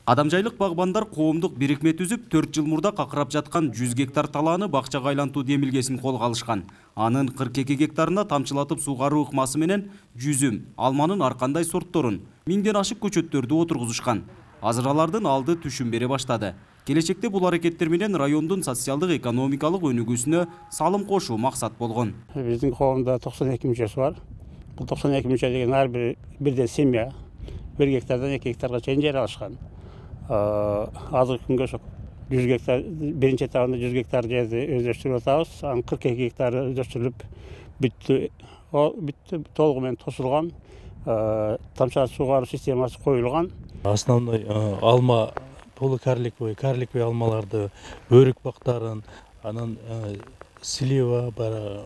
Адамжайлык багбандар коомдук бирикме түзүп 4 жыл мурда какырап жаткан 100 гектар талааны бакчага айлантуу демилгесин колго алышкан. Анын 42 гектарына тамчылатып сугаруу ыкмасы менен жүзүм, алманын ар кандай сортторун, 1000ден ашык көчөттөрдү отургузушкан. Азыр алардын алды түшүм бере баштады. Келечекте бул аракеттер менен райондун социалдык экономикалык өнүгүүсүнө салым кошуу максат болгон. Биздин коомдо 92 мүчөсү бар. Бул 92 мүчө деген ар бирден семья 1 гектардан 2 гектарга чейин жер алышкан. Азыркы күнгө ошо 100 гектар биринчи этабында 100 гектар жерди өздөштүрүп атабыз. Анын 42 гектары өздөштүрүлүп бүттү, толугу менен тосулган, тамчылатып сугаруу системасы коюлган. Основной алма полукарликовый, карликовый алмаларды, өрүк бактарын, анан слива бар,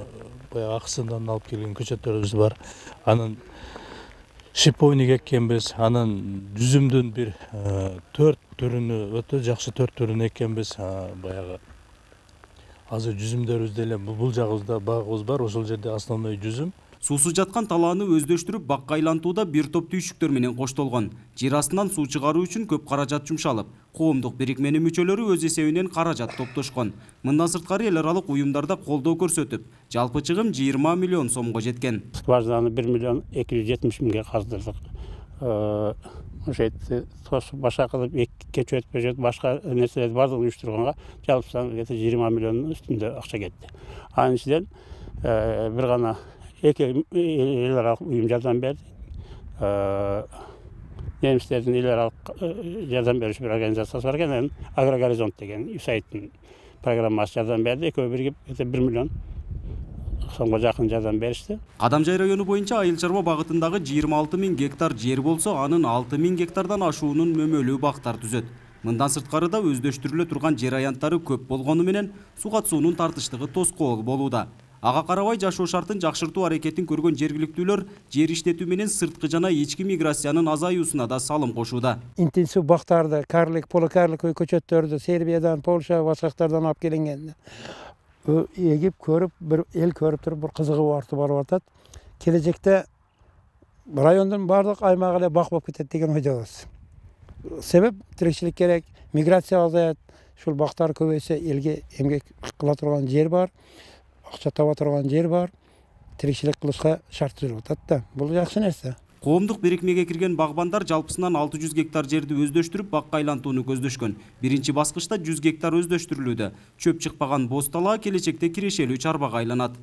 баягы аксындан алып келген көчөттөрүбүз бар. Анан шиповник эккенбиз, анан жүзүмдүн бир 4 түрүнү, өтө жакшы 4 түрүнү эккенбиз. Баягы азыр жүзүмдөрүбүз деле бул жагыбызда багыбыз бар, ошол жерде основной жүзүм. Суусуз жаткан талааны өздөштүрүп бакка айлантууда бир топ түйшүктөр менен коштолгон. Жер астынан суу чыгаруу үчүн көп каражат жумшалып, коомдук бирикменин мүчөлөрү өз эсебинен каражат топтошкон. Мындан сырткары эл аралык уюмдарда колдоо көрсөтүп, жалпы чыгым 20 миллион сомго жеткен. Скважинаны 1 миллион 270 миңге каздырдык. Ошентип башка кылып көчөт, башка нерселерди бардыгын уюштурганга жалпысынан 20 миллиондун үстүндө акча кетти. Анын ичинен бир гана эки эл аралык уюм жардам берди. Немистердин эл аралык жардам берүүчү бир организациясы бар экен, Агрогоризонт деген USAID программасы жардам берди. Экөө биригип 1 миллион сомго жакын жардам беришти. Кадамжай району боюнча айыл чарба багытындагы 26 000 гектар жер болсо, анын 6 000 гектардан ашуунун мөмөлүү бактар түзөт. Мындан сырткары да өздөштүрүлө турган жер аянттары көп болгону менен суу катышуунун тартыштыгы тоскоол болууда. Ага карабай жашоо шартын жакшыртуу аракетин көргөн жергиликтүүлөр жер иштетүү менен сырткы жана ички миграциянын азаюусуна да салым кошууда. Интенсив бактарды, полукарликовый көчөттөрдү Сербиядан, Польша, башка жактардан алып келингенди эгип көрүп, бир эл көрүп туруп бир кызыгуу артып барып атат. Келечекте райондун баардык аймагы эле бак болуп кетет деген ойдобуз. Себеп тиричилик керек, миграция азаят, ушул бактар көбөйсө элге эмгек кыла турган жер бар, акча таба турган жер бар, тиричилик кылышка шарт түзүлүп атат да. Бул жакшы нерсе. Коомдук бирикмеге кирген багбандар жалпысынан 600 гектар жерди өздөштүрүп бакка айлантууну көздөшкөн. Биринчи баскычта 100 гектар өздөштүрүлүүдө. Чөп чыкпаган боз талаа келечекте кирешелүү чарбага айланат.